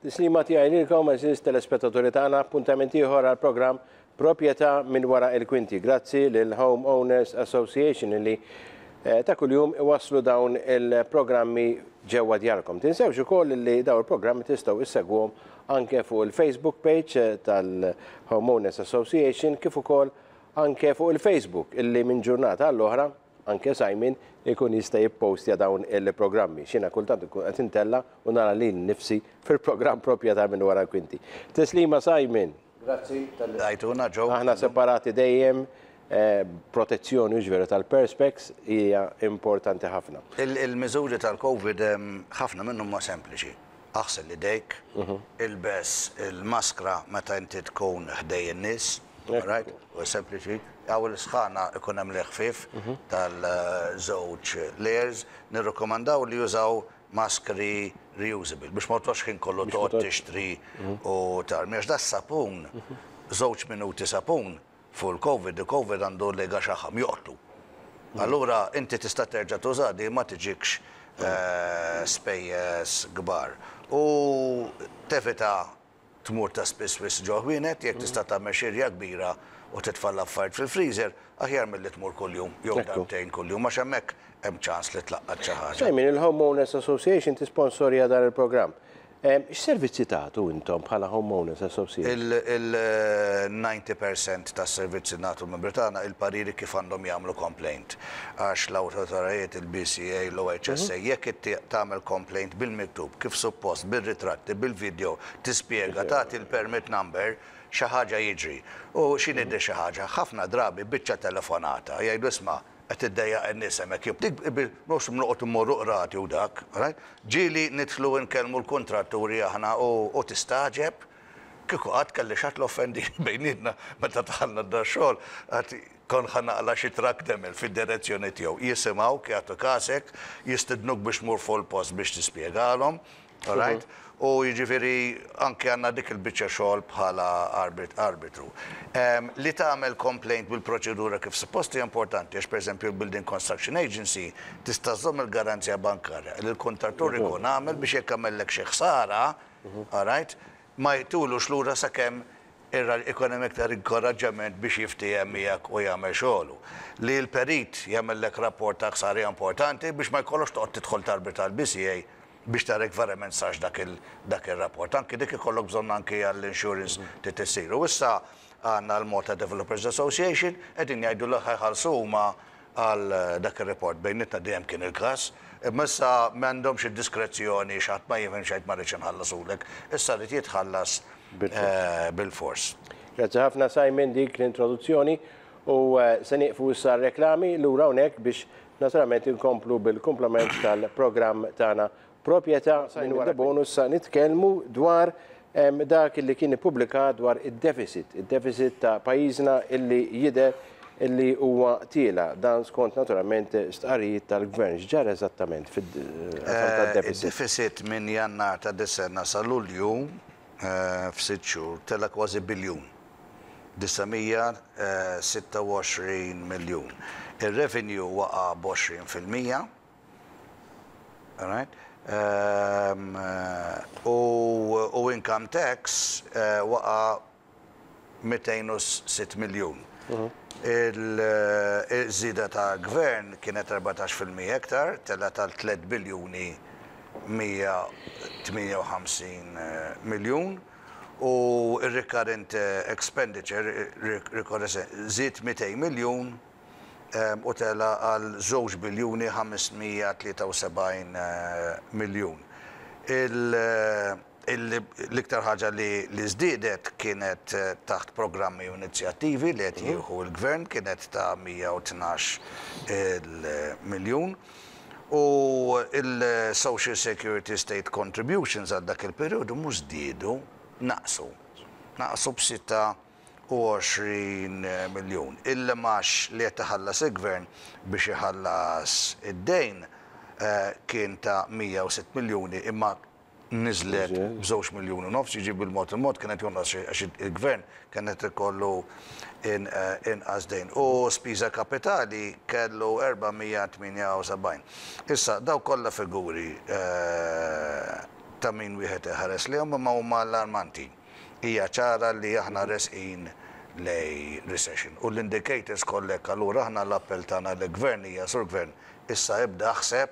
Tislima tiegħi lilkom għeżież telespettaturi tagħna, appuntament ieħor għal programm Proprjetà minn wara il-kwinti. Grazzi lil Home Owners Association li eh, ta' kuljum iwasslu dawn il-programmi ġewwa djarkom. Tinsewx ukoll li dawn il-programmi tistgħu issegwhom anke fuq il-Facebook page eh, tal-Home Owners Association kif ukoll anke fuq il-Facebook illi minn ġurnata għall-oħra anke Simon ikun jista' jippostja dawn il-programmi. Xina kultant ikun qed intella u nara lil nifsi fil-programm Proprjetà minn wara l-kwinti. Tislima Simon. Grazzi talli lqajtuna Joe. Aħna separati dejjem, protezzjoni hux veru tal-perspex hija importanti ħafna. Il-miżuri tal-Covid ħafna minnhom huma sempliċi. Aħsel idejk, ilbes il-maskra meta inti tkun ħdej in-nies, alright? U sempliċi. Hawn il-sħana ikun hemm l-ħfief tal-żewġ layers. Nirrikkomandaw li jużaw maskri reusable biex ma toqgħodx ħin kollu toqgħod tixtri u tarmi għax das-sapun, żewġ minuti sapun fuq il-Covid, il-Covid għandu lega xaħam, joqtlu. Allura inti tista' terġa' tuża di ma tiġikx spejjeż kbar. U tevita tmur ta' spiss wisq ġo ħwienet, jekk tista' tagħmel xirja kbira u titfa' l-affarijiet fil-freezer, aħjar milli tmur kuljum jew darbtejn kuljum għax hemmhekk hemm ċans li tlaqqat xi ħaġa. Simon, il-Homeowners Association tisponsorja dan il-programm. X'servizzi tagħtu intom bħala Homeowners Association? Il-90 percent tas-servizzi nagħtu l-membri tagħna il-pariri kif għandhom jagħmlu complaint. Għax l-awtoritajiet, il-BCA, l-OHSA, jekk inti tagħmel complaint bil-miktub, kif suppost, bir-ritratti, bil-video, tispjega, tagħti l-permit number, xi ħaġa jiġri. U x'inhi di xi ħaġa? Ħafna drabi biċċa telefonata, jgħidu isma' qed iddejjaq in-nies hemmhekk jew dik mhux noqgħod immorru qrati u dak, right? Ġieli nidħlu nkellmu l-kuntratturi aħna u tistagħġeb kieku qatt kelli xi ħadd l-offendini bejnietna meta dħalna dax-xogħol għad kont ħa naqla' xi trakk demel fid-direzzjoni tiegħu. Jisimgħuk, jagħtu kasek, jistidnuk biex tmur fuq il-post biex tispjegalhom. All right? U jiġifieri anke għandna dik il-biċċa xogħol bħala arbitru. Li tagħmel complaint bil-proċedura kif suppost hija importanti għax pereżempju l-Building Construction Agency tista' żżomm il-garanzija bankarja li l-kuntrattur ikun għamel biex jekk għamellek xi ħsara, all right, ma jtulux lura sakemm ikun hemm iktar inkoraġġament biex jiftiehem miegħek u jagħmel xogħlu. Li l-perit jagħmellek rapport ta' ħsara hija importanti biex ma jkollokx toqgħod tidħol tarbita l-BCA biex tara jekk verament sarx dak il dak ir-rapport. Anki dik ikollok bżonn anki għall-insurance trid issir. U issa għandna l-Malta Developers Association qegħdin jgħidu li ħa jħallsu huma għal dak ir-report. Bejnietna dejjem kien il-każ, imma issa m'għandhomx id-diskrezzjoni xi ħadd ma jifhimx jgħid ma rridx inħallasulek. Issa rrid jitħallas bilfors. Grazzi ħafna Simon dik l-introduzzjoni u se nieqfu issa r-reklami lura hawnhekk biex Naturalment inkomplu bil-kumplament tal-programm tagħna Proprjetà minn wara Debono issa nitkellmu dwar dak illi kien ippubblikat dwar id-deficit, id-deficit ta' pajjiżna illi jidher illi huwa tiela'. Dan skont naturalment stqarrijiet tal-Gvern. X'ġara eżattament fil-qasam tad-deficit? Id-deficit minn Jannar ta' dis-sena sa Lulju f'sitt xhur tela' kważi biljun. 926 miljun. Ir-revenue waqa' b'20%. Alright? U income tax waqa' 206 miljun. Il-żieda ta' gvern kienet 14% iktar, telgħet għal 3 biljuni 158 miljun. U r-recurrent expenditure, żied 200 miljun u tela' għal żewġ biljuni 573 miljun. L-iktar ħaġa li żdiedet kienet taħt programmi u inizjattivi li qed jieħu l-Gvern kienet ta' 112 il miljun. U l-Social Security State Contributions għal dak il-perjodu mhux żdiedu, naqsu. Naqsu b'26 miljun. Il-imgħax li qed iħallas il-Gvern biex iħallas id-dejn kien ta' 106 miljuni imma niżlet b'żewġ miljun u nofs, jiġifieri bil-mod il-mod kien qed jonqos għax il-Gvern kien qed ikollu inqas dejn. U spiża kapitali kellu 478. Issa, dawk kollha figuri. ta' min wieħed iħares lejhom imma huma allarmanti. Hija ċara li aħna resqin lejn recession u l-indicators kollha hekk allura aħna l-appell tagħna lill-Gvern hija Sur Gvern issa ibda aħseb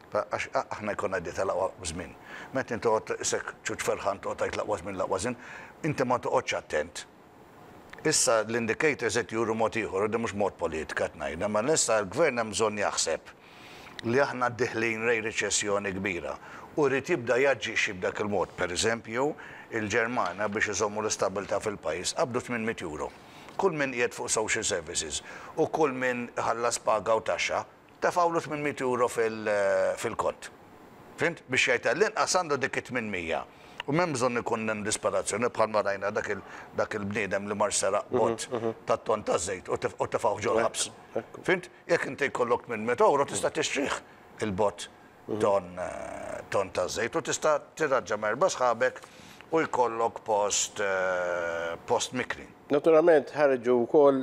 għax aħna jkollna idea tal-aqwa żmien. Meta inti toqgħod isek ċuċ ferħan toqgħod tgħid l-aqwa żmien l-aqwa żmien, inti ma toqgħodx attent. Issa l-indicators qed juru mod ieħor, u din mhux mod politika qed ngħidha, imma issa l-Gvern hemm bżonn jaħseb li aħna deħlin lejn riċessjoni kbira u jrid jibda jaġixxi b'dak il-mod. Per eżempju, il-Ġermanja biex iżommu l-istabilità fil-pajjiż qabdu 800 euro. Kull min qiegħed fuq social services u kull min iħallas paga u taxxa tefgħulu 800 euro fil-kont. Fhimt? Biex jgħid għall-inqas għandu dik it-800. U m'hemm bżonn ikun hemm disperazzjoni bħalma rajna dak il-bniedem li mar seraq bott tat-ton taż-żejt u tefgħuh ġol-ħabs. Fhimt? Jekk inti jkollok 800 euro tista' tixtrih il-bott ton ton taż-żejt u tista' tirraġġa ma' erba' sħabek u jkollok post post mikri. Naturalment ħarġu wkoll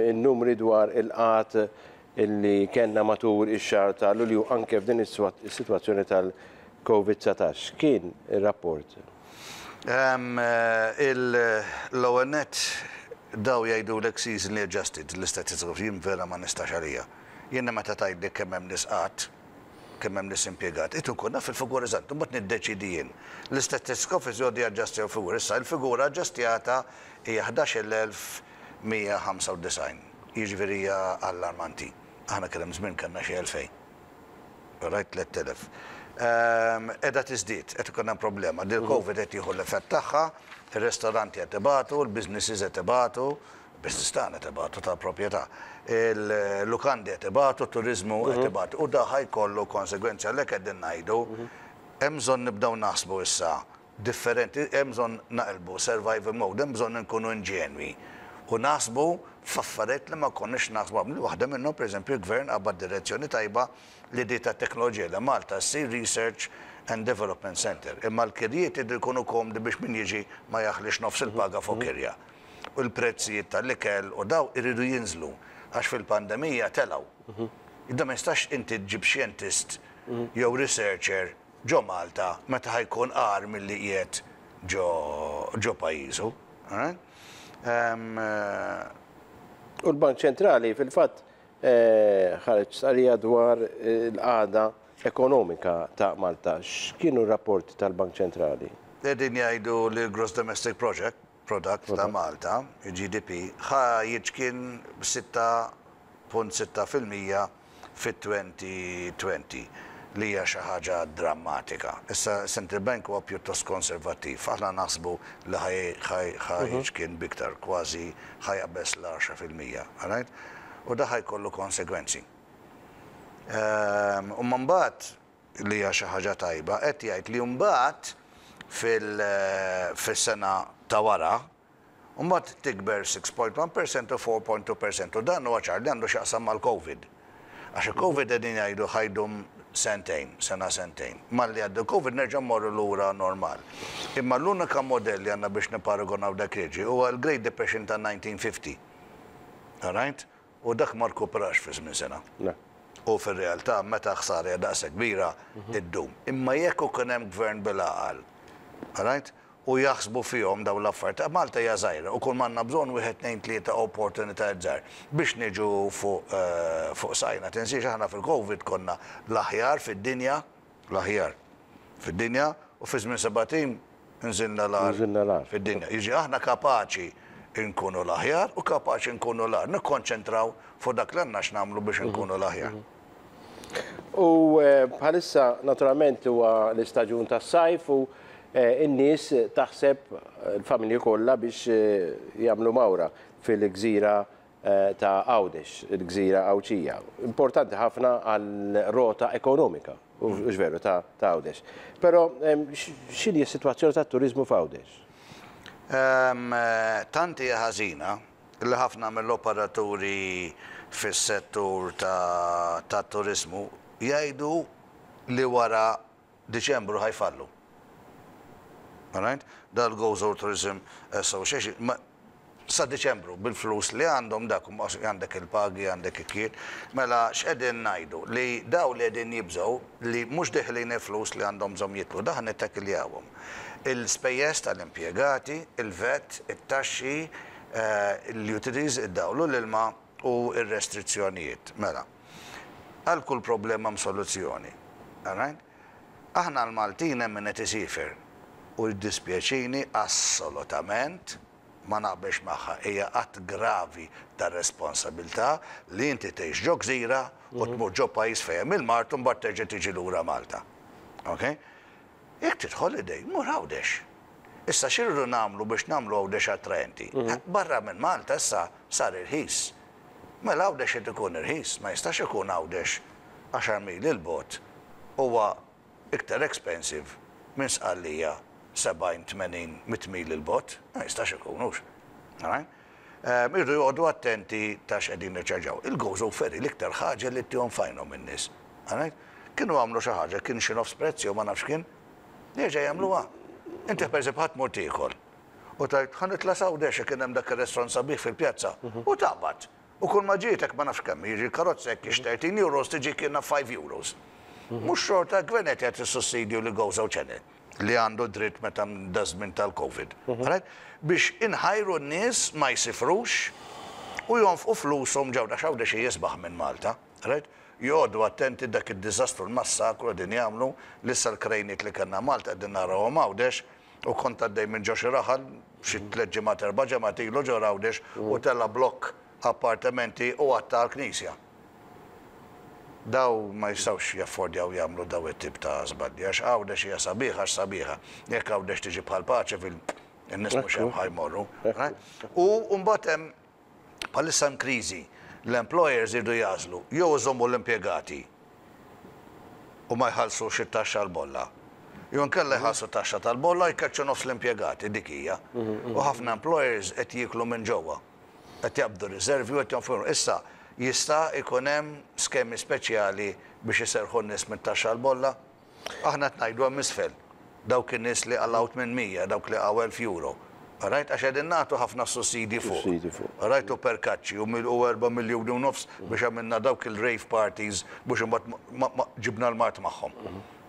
in-numri dwar il-qgħad illi kellna matul ix-xahar ta' Lulju anke f'din is-sitwazzjoni tal-Covid 19. X'kien ir-rapport? L-ewwel nett daw jgħidulek seasonally adjusted l-istatistika jien vera ma nistax għalija. Jiena meta tgħidli kemm hemm nies qgħad, kemm hemm nies impjegat, irrid inkun naf il-figura eżatt, imbagħad niddeċiedi jien. L-Statistics Office jgħoddu jaġġastjaw figura. Issa il-figura aġġastjata hija 11,195. Jiġifieri hija allarmanti. Aħna kien hemm żmien kellna xi 2000. Right, 3000. Qiegħda tiżdied, qed ikun hemm problema. Dil-Covid qed jieħu l-effett tagħha, ir-ristoranti qed ibatu, il-businesses qed ibatu, il-business tagħna qed ibatu tal-proprjetà. Il-lukandi qed ibatu, t-turiżmu qed ibatu. U da ħa jkollu konsegwenzi għalhekk qegħdin ngħidu hemm bżonn nibdew naħsbu issa differenti, hemm bżonn naqilbu survival mode, hemm bżonn inkunu inġenwi u naħsbu f'affarijiet li ma konniex naħsbu qabel. Waħda minnhom, pereżempju, il-Gvern qabad direzzjoni tajba li di tat-teknoloġija li Malta ssir Research and Development Centre. Imma l-kirjiet iridu jkunu komdi biex min jiġi ma jaħlix nofs il-paga fuq kirja. U l-prezzijiet tal-ikel u daw iridu jinżlu għax fil-pandemija telgħu. Iżda ma jistax inti ġġib xjentist jew researcher ġo Malta meta ħa jkun agħar milli qiegħed ġo ġo pajjiżu. U l-Bank Ċentrali fil-fatt ħareġ stqarrija dwar il-qagħda ekonomika ta' Malta. X'kienu r-rapporti tal-Bank Ċentrali? Qegħdin jgħidu li l-Gross Domestic Project, Product ta' Malta, il-GDP, ħa jiċkien b'6.6% fit-2020, li hija xi ħaġa drammatika. Issa Central Bank huwa pjuttost konservattiv. Aħna naħsbu li ħa jiċkien b'iktar, kważi ħa jaqbeż l-10%. Alright? U da ħa jkollu konsegwenzi. Imma mbagħad, li hija xi ħaġa tajba, qed jgħid li mbagħad fis-sena ta' wara, mbagħad tikber 6.1% u 4.2% u dan huwa ċar li għandu x'jaqsam mal-Covid. Għax il-Covid qegħdin jgħidu ħa jdum sentejn, sena sentejn. Malli jgħaddi l-Covid nerġa' mmorru lura normal. Imma l-unika modell li għandna biex nipparagonaw dak li jiġri huwa l-Great Depression tan-1950. All right? U dak ma rkuprax fi żmien sena. Le. U fir-realtà meta ħsara hija daqshekk kbira, iddum. Imma jekk ikun hemm gvern bil-għaqal, all right, u jaħsbu fihom dawn l-affarijiet, Malta hija żgħira u kull m'għandna bżonn wieħed, tnejn, tlieta opportunitajiet żgħar biex niġu fuq fuq saqajna. Tinsiex aħna fil-Covid konna l-aħjar fid-dinja, l-aħjar fid-dinja u fi żmien sebat ijiem nżilna l-agħar fid-dinja. Jiġifieri aħna kapaċi nkunu l-aħjar u kapaċi nkunu l-agħar. Nikkonċentraw fuq dak li għandna x'nagħmlu biex inkunu l-aħjar. U bħalissa naturalment huwa l-istaġun tas-sajf u n-nies taħseb il-familji kollha biex jagħmlu mawra fil-gżira ta' Għawdex, il-gżira Għawdxija. Importanti ħafna għal-rota ekonomika, hux veru, ta' Għawdex. Però x'inhi s-sitwazzjoni tat-turiżmu f'Għawdex? Tant hija ħażina li ħafna mill-operaturi fis-settur tat-turiżmu jgħidu li wara Diċembru ħa jfallu. Alright? Dal-Gozo Tourism Association. Sa Diċembru bil-flus li għandhom dak għandek il-pagi, għandek ikkiet. Mela x'qegħdin ngħidu? Li daw li qegħdin jibżgħu li mhux deħlin il-flus li għandhom bżonn jidħlu, daħ nittekiljawhom. Il-spejjeż tal-impjegati, il-VAT, it-taxxi, l-utilities, id-dawl u l-ilma u r-restrizzjonijiet. Mela, għal kull problema hemm soluzzjoni. All right? Aħna l-Maltin hemm min qed isiefer u jiddispjaċini assolutament ma naqbilx magħha, hija att gravi ta' responsabilità li inti tgħix ġo gżira u tmur ġo pajjiż fejn hemm il-mard u mbagħad terġa' tiġi lura Malta. Ok? Jekk trid holiday, mur Għawdex. Issa x'irridu nagħmlu biex nagħmlu Għawdex attraenti? Barra minn Malta issa sar irħis. Mela Għawdex irid ikun irħis, ma jistax ikun Għawdex għaxar mili 'l bogħod huwa iktar expensive minn Sqallija 70, 80, 100 mil 'il bogħod. Ma jistax ikun, hux? Alright? Irridu joqogħdu attenti ta' x'qegħdin niċċarġaw. Il-Gozo Ferry l-iktar ħaġa li ttihom f'għajnhom in-nies. Alright? Kienu għamlu xi ħaġa, kien xi nofs prezz jew ma nafx kien. Jerġa' jagħmluha. Inti pereżempju ħa tmur tiekol u tgħid ħa nitla' s'Għawdex kien hemm dak ir-restaurant sabiħ fil-pjazza u taqbad. U kull ma ġietek ma nafx kemm jiġi l-karozza jekk hix €13 tiġi kienha €5. Mhux xorta l-gvern qed jagħti sussidju li Gozo Channel li għandu dritt meta daż-żmien tal-Covid. Alright? Biex inħajru n-nies ma jsifrux u jonfqu flushom ġewwa għax Għawdex jisbaħ minn Malta. Alright? Joqogħdu attenti dak id-diżastru l-massakru qegħdin jagħmlu li issa l-krejniet li kellna Malta qegħdin narawhom Għawdex u kont għaddej minn ġo xi raħal xi tliet ġimgħat erba' ġimgħat ilu ġo Għawdex u tela' blokk appartamenti u għatta għall-knisja. Daw ma jistgħux jaffordjaw jagħmlu daw it-tip ta' żbalji għax Għawdex hija sabiħa għax sabiħa. Jekk Għawdex tiġi bħal Paċeville, in-nies mhux hemm ħa jmorru. U mbagħad hemm bħalissa hemm kriżi. L-employers iridu jagħżlu jew iżommu l-impjegati u ma jħallsux it-taxxa l-bolla. Jew inkella jħallsu taxxa tal-bolla u jkeċċu nofs l-impjegati, dik hija. U ħafna employers qed jieklu minn ġewwa. Qed jaqbdu riservi u qed jonfqu. Issa, jista' jkun hemm skemi speċjali biex iserrħu n-nies mit-taxxa l-bolla? Aħna qed ngħidu hemm isfel, dawk in-nies li qalgħu 800, dawk li qalgħu 1000 euro. Alright? Għax qegħdin nagħtu ħafna sussidji fuq. Sussidji fuq. Alright? U perkaċċi u 4 miljuni u nofs biex għamilna dawk il-rave parties biex imbagħad ġibna l-mard magħhom.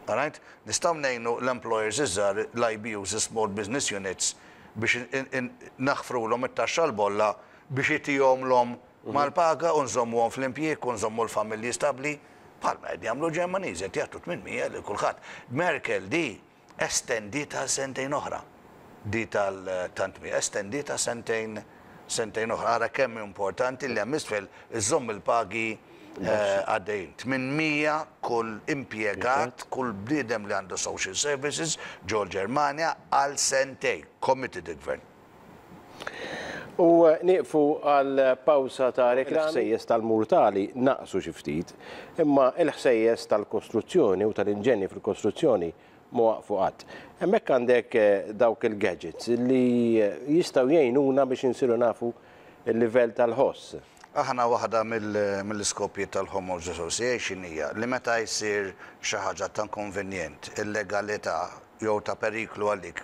Alright? Nistgħu ngħinu l-employers iż-żgħar, l-IBUs, is-small business units, biex naħfrulhom it-taxxa l-bolla biex itihomlhom mal-paga u nżommuhom fl-impjieg u nżommu l-familji stabbli, bħalma qed jagħmlu l-Ġermaniżi qed jagħtu 800 lil kulħadd. Merkel di estendiet għal sentejn oħra. Di tal-800 estendiet għal sentejn sentejn oħra. Ara kemm importanti li hemm isfel iżżomm il-pagi għaddejjin. 800 kull impjegat, kull bniedem li għandu social services ġol-Ġermanja għal sentejn. Committed il-gvern. U nieqfu għal pawsa ta' reklami. Il-ħsejjes tal-murtali naqsu xi ftit, imma il-ħsejjes tal-kostruzzjoni u tal-inġenji fil-kostruzzjoni ma waqfu qatt. Hemmhekk għandek dawk il-gadgets li jistgħu jgħinuna biex insiru nafu il-livell tal-ħoss. Aħna waħda mill-iskopji tal-Homeowners Association hija li meta jsir xi ħaġa ta' inkonvenjent, illegalità jew ta' periklu għalik,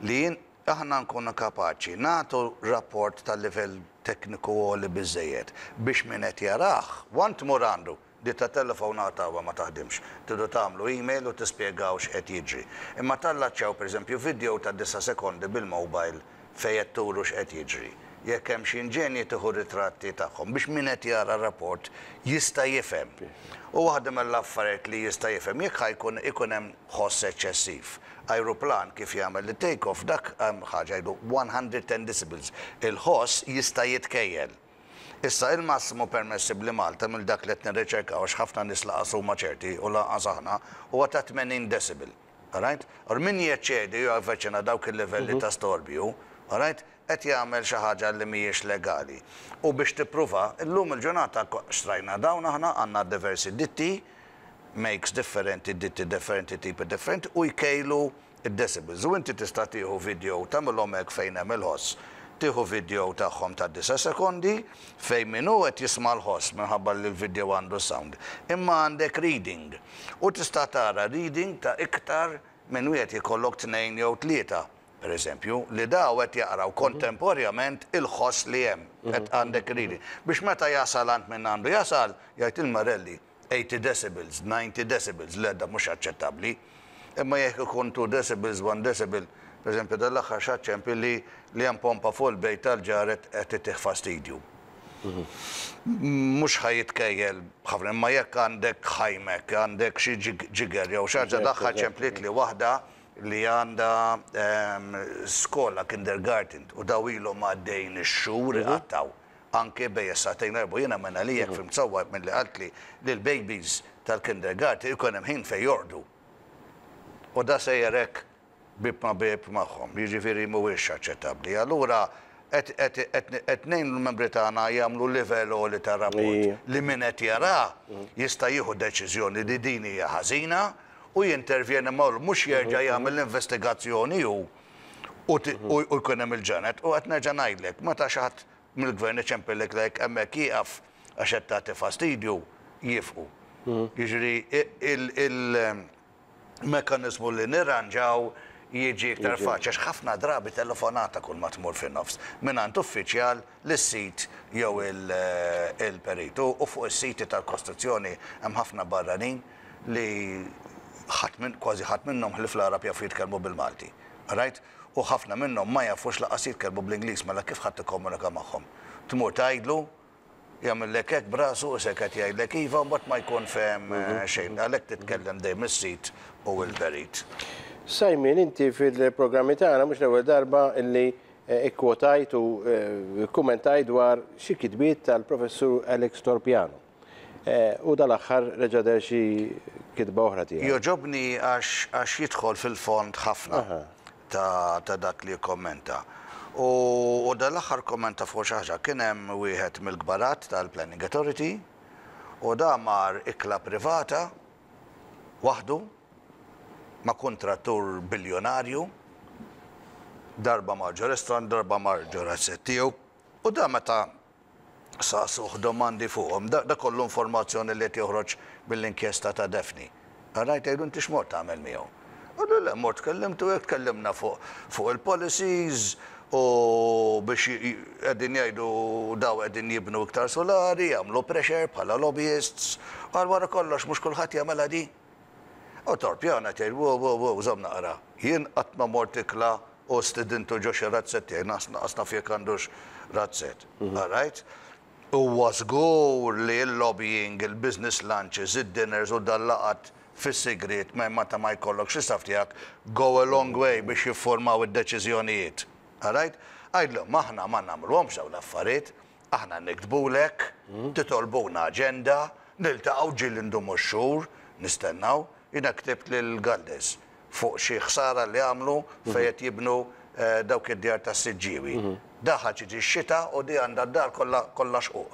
li aħna nkunu kapaċi nagħtu rapport tal-livell tekniku għoli biżżejjed biex min qed jarah, one tmur għandu, di ta' telefonata ma taħdimx. Tridu tagħmlu email u tispjegaw x'qed jiġri. Imma tallaċċjaw pereżempju video ta' 9 sekondi bil-mobile fejn qed turu x'qed jiġri. Jekk hemm xi inġenji tieħu ritratti tagħhom biex min qed jara rapport jista' jifhem. U waħda mill-affarijiet li jista' jifhem jekk ħa jkun ikun hemm ħoss eċċessiv. Ajruplan kif jagħmel it-take off dak hemm ħaġa jgħidu 110 decibels. Il-ħoss jista' jitkejjel. Issa il-massimu permessibbli Malta mill dak li qed nirriċerkaw għax ħafna nies lanqas huma ċerti u lanqas aħna huwa ta' 80 decibel. Alright? Or min jeċċedi u javviċina dawk il-livelli ta' storbju, alright, qed jagħmel xi ħaġa li mhijiex legali. U biex tippruva, illum il-ġurnata xtrajna dawn aħna għandna diversi ditti, makes differenti, ditti differenti, tipi differenti, u jkejlu id-decibels. U inti tista' tieħu video tagħmilhom hekk fejn hemm il-ħoss. Tieħu video tagħhom ta' 9 sekondi fejn min hu qed jisma' l-ħoss minħabba li l-video għandu sound. Imma għandek reading. U tista' tara reading ta' iktar minn wieħed jkollok tnejn jew tlieta. Per eżempju, li daw qed jaqraw kontemporjament il-ħoss li hemm, qed għandek reading. Biex meta jasal għand min għandu jasal, jgħid il-Marelli 80 decibels, 90 decibels, le da mhux aċċettabbli. Imma jekk ikun 2 decibels, 1 decibel, per eżempju dal-aħħar xi ċempel li li hemm pompa fuq il-bejt tal-ġar qed itih fastidju. Mhux ħa jitkejjel ħafna, imma jekk għandek ħajmek, għandek xi ġiger jew xi ħaġa l-aħħar ċempliet li waħda li għandha skola kindergarten u daw ilhom għaddejjin ix-xhur iqattgħu anke bejn is-sagħtejn u erbgħa. Jiena minn għalija jekk fhimt sewwa milli qaltli li l-babies tal-kindergarten ikun hemm ħin fejn jorqdu. U da sejjer hekk bieb ma' bieb magħhom. Jiġifieri mhuwiex aċċettabbli. Allura qed qed ngħinu l-membri tagħna jagħmlu livell għoli ta' rapport li min qed jara jista' jieħu deċiżjoni li din hija ħażina u jintervjeni ma' mhux jerġa' jagħmel l-investigazzjoni hu u jkun hemm il-ġanet. U qed nerġa' ngħidlek, meta xi ħadd mill-gvern iċempillek lek hemmhekk jieqaf għax qed tagħti fastidju, jiefqu. Jiġifieri il-mekkaniżmu li nirranġaw jiġi iktar faċli għax ħafna drabi telefonata kull ma tmur fin-nofs mingħand uffiċjal lis-sid jew il-perit. U fuq is-siti tal-kostruzzjoni hemm ħafna barranin li ħadd minn, kważi ħadd minnhom ħlief l-Għarab jafu jitkellmu bil-Malti. Right? U ħafna minnhom ma jafux lanqas jitkellmu bl-Ingliż, mela kif ħadd tikkomunika magħhom? Tmur tgħidlu, jagħmillek hekk b'rasu u seket jgħidlek iva u mbagħad ma jkun fehem xejn. Għalhekk titkellem dejjem is-sid u l-perit. Simon, inti fil-programmi tagħna mhux l-ewwel darba illi ikkwotajt u kkummentajt dwar xi kitbiet tal-Professur Alex Torpiano. U dal-aħħar reġa' deher xi kitba oħra tiegħu. Jogħġobni għax għax jidħol fil-fond ħafna ta' ta' dak li jikkommenta. U dal-aħħar kkommenta fuq xi ħaġa. Kien hemm wieħed mill-kbarat tal-Planning Authority u da mar ikla privata waħdu ma' kuntrattur biljonarju, darba mar ġo restaurant, darba mar ġo razzett tiegħu u da meta saqsuh domandi fuqhom. Da kollu informazzjoni li qed joħroġ mill-inkjesta ta' Daphne. Rajt jgħidu inti x'mort tagħmel miegħu? Qallu le mort tkellimtu hekk tkellimna fuq fuq il-policies u biex qegħdin jgħidu daw qegħdin jibnu iktar solari, jagħmlu pressure bħala lobbyists. Qal wara kollox mhux kulħadd jagħmilha di. U Torpiano qed jgħid wow wow wow żomm naqra. Jien qatt ma mort ikla u stidintu ġo xi razzett tiegħi, lanqas naf jekk għandux razzett. All right? Huwa żgur li l-lobbying, il-business lunches, id-dinners u dal-laqgħat fis-sigriet meta ma jkollokx l-istaff tiegħek go a long way biex jiffurmaw id-deċiżjonijiet. All right? Għidlhom aħna ma nagħmluhomx dawn l-affarijiet, Aħna niktbulek, titolbuna aġenda, niltaqgħu ġieli ndumu x-xhur nistennaw. Jiena ktibt lil Galdes fuq xi ħsara li għamlu fejn qed jibnu dawk id-djar tas-Siġġiewi. Daħal ġiet ix-xita u di għandha d-dar kollha kollha xquq.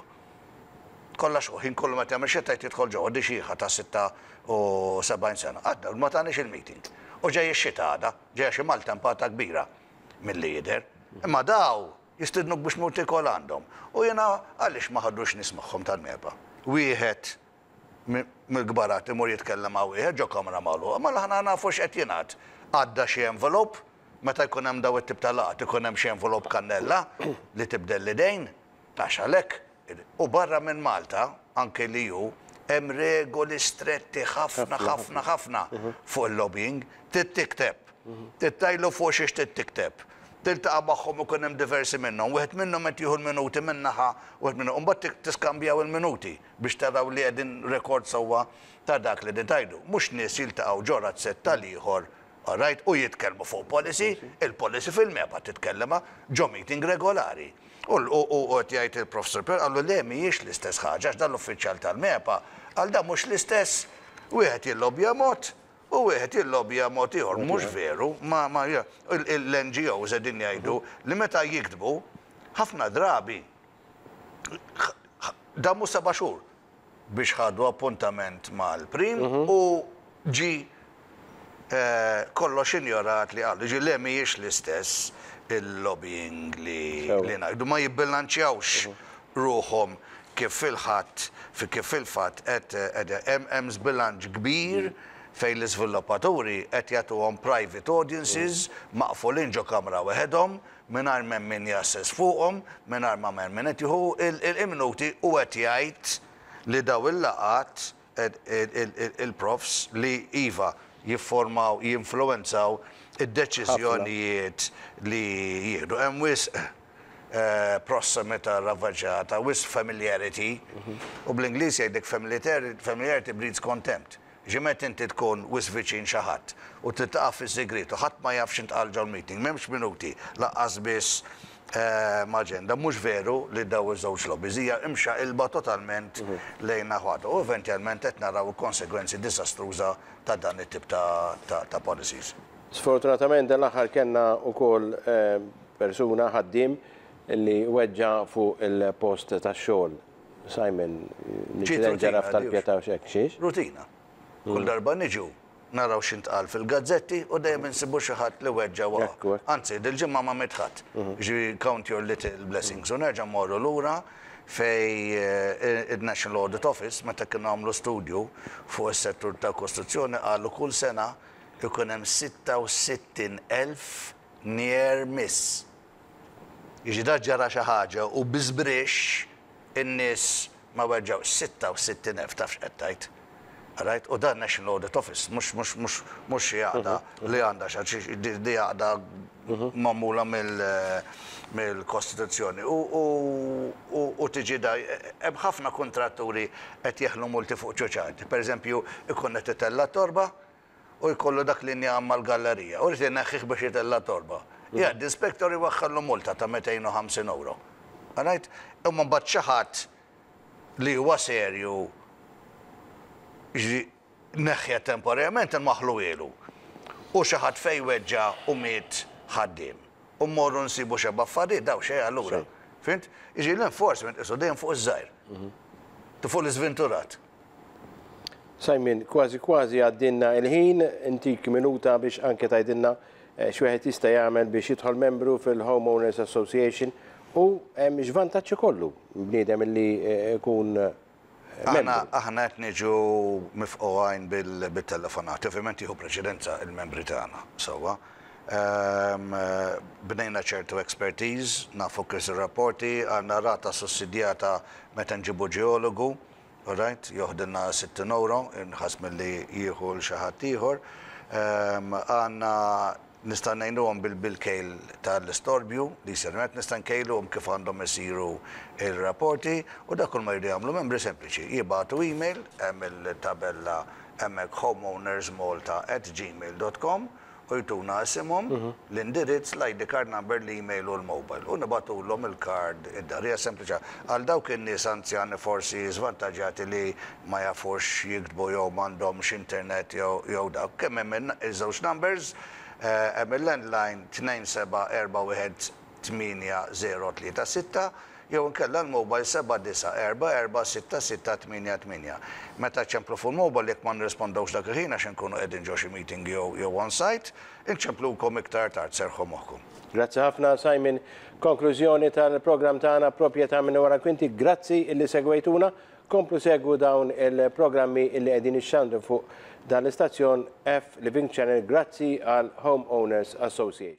Kollha xquq. Ħin kollu meta jagħmel xita jrid jidħol ġewwa. Di xiħa ta' 76 sena. Għadda ma taniex il-meeting. U ġej ix-xita għada. Ġejja xi maltempata kbira milli jidher. Imma daw Jistidnuk biex tmur tiekol għandhom. U jiena għaliex ma ħadux nies magħhom tal-MEPA? Wieħed mill-kbarat imur jitkellem ma' wieħed ġo kamra magħluqa, mela aħna nafu x'qed jingħad. Għadda xi envelope, meta jkun hemm dawn it-tip ta' laqgħat ikun hemm xi envelope kannella li tibdel l-idejn, għax għalhekk U barra minn Malta, anke l-EU, hemm regoli stretti ħafna, ħafna, ħafna fuq il-lobbying. Trid tikteb. Trid tgħidlu fuq xiex trid tikteb. Tiltaqa' magħhom ikun hemm diversi minnhom. Wieħed minnhom qed jieħu l-minuti minn naħa, wieħed minnhom. U mbagħad tiskambjaw il-minuti biex taraw li qegħdin rekord sewwa ta' dak li qegħdin tgħidu. Mhux nies jiltaqgħu ġo razzett tal-ieħor All right, u jitkellmu fuq policy, il-policy fil-MEPA titkellimha ġo meeting regolari. U qed jgħid il-Professor Pierre qallu le mhijiex l-istess ħaġa għax dan l-uffiċjal tal-MEPA qal dan mhux l-istess. Wieħed jillobbja mod u wieħed jillobbja mod ieħor. Mhux veru, ma l-NGOs qegħdin jgħidu li meta jiktbu ħafna drabi damu seba' xhur biex ħadu appuntament mal-Prim u ġie kollox injorat li qalu. Jiġifieri le mhijiex l-istess il-lobbying li ngħidu. Ma jibbilanċjawx ruħhom kif fil-ħadd kif fil-fatt qed hemm żbilanċ kbir Fejn l-iżviluppaturi qed jagħtuhom private audiences maqfulin ġo kamra weħedhom mingħajr m'hemm min jgħasses fuqhom, mingħajr ma hemm min qed jieħu il-minuti u qed jgħid li daw il-laqgħat il-profs li iva jifformaw, jinfluwenzaw id-deċiżjonijiet li jieħdu. Hemm wisq prossimità ravvaġġata, wisq familiarity, u bl-Ingliż jgħidlek familiarity breeds contempt. Ġi meta inti tkun wisq viċin xi ħadd u tiltaqa' fis-sigriet u ħadd ma jaf x'intqal ġol-meeting, m'hemmx minuti lanqas biss aġenda. Mhux veru li daw iż-żewġ lobbies hija imxaqilba totalment lejn naħa u eventjalment qed naraw il-konsegwenzi diżastruża ta' dan it-tip ta' policies. Sfortunatament dan l-aħħar kellna wkoll persuna ħaddiem li weġġa' fuq il-post tax-xogħol. Simon, l-inċident ġara f'Tal-Pietà u x'hekk, xiex? Rutina. Kull darba niġu naraw x'intqal fil-gazzetti u dejjem insibu xi ħadd li weġġa' waqa'. Anzi, dil-ġimgħa ma miet ħadd. Ġifieri count your little blessings. U nerġa' mmorru lura fejn il-National Audit Office meta kienu għamlu studju fuq is-settur tal-kostruzzjoni qalu kull sena ikun hemm 66,000 near miss. Jiġi da ġara xi ħaġa u bi żbrixx in-nies ma weġġgħux. 66,000 taf x'qed tgħid. Right? U dan National Audit Office, mhux mhux mhux mhux xi għaqda li għandha xi di għaqda magħmula mill-Kostituzzjoni. U tiġi da hemm ħafna kuntratturi qed jeħlu multi fuq ċuċati. Per eżempju, ikun qed itella' torba u jkollu dak l-injam mal-gallerija u jrid ineħħih biex itella' torba. Jgħaddi inspector iwaħħallu multa ta' 250 euro. Right? Imma mbagħad xi ħadd li huwa serju neħħja temporarjament inwaħħlu ilu. U xi ħadd fejn weġġa' u miet ħaddiem. U mmorru nsibu xeba' affarijiet daw xejn allura. Fhimt? Jiġifieri l-enforcement qisu dejjem fuq iż-żgħir. Fuq l-iżventurat. Simon, kważi kważi għaddinna il-ħin, intik minuta biex anke tgħidilna x'wieħed jista' jagħmel biex jidħol membru fil-Homeowners Association u x'vantaġġ ikollu bniedem li jkun membru. Aħna qed niġu mifqugħin bil-telefonati, ovvjament jieħu preċedenza il-membri tagħna, sewwa. Bnejna ċertu expertise, nafu kif rapporti, għandna rata sussidjata meta nġibu ġeologu, right, joħdilna 60 euro, inħas milli jieħu l xi ħadd ieħor. Għandna nista' ngħinuhom bil-kejl tal-istorbju li jsir hemmhekk, nista' nkejluhom kif għandhom isiru il-rapporti u dak kull ma jridu jagħmlu membri sempliċi. Jibagħtu email hemm il-tabella hemmhekk homeownersmalta@gmail.com u jtuna isimhom, l-indirizz, l-ID card number, l-email u l-mobile. U nibagħtulhom il-card id-dar. Hija sempliċi. Għal dawk in-nies anzjani forsi żvantaġġjati li ma jafux jiktbu jew m'għandhomx internet jew dak. Kemm hemm iż-żewġ numbers, hemm il-landline 2741 8036 jew inkella l-mobile 79446688. Meta ċemplu fuq il-mobile jekk ma nirrispondewx dak il-ħin għax inkunu qegħdin ġo xi meeting jew on site, inċemplukom iktar tard serħu moħħkom. Grazzi ħafna Simon. Konklużjoni tal-programm tagħna Proprjetà minn wara kwinti. Grazzi illi segwejtuna. Komplu segwu dawn il-programmi illi qegħdin ixxandru fuq dan l-istazzjon F Living Channel. Grazzi għal Homeowners Association.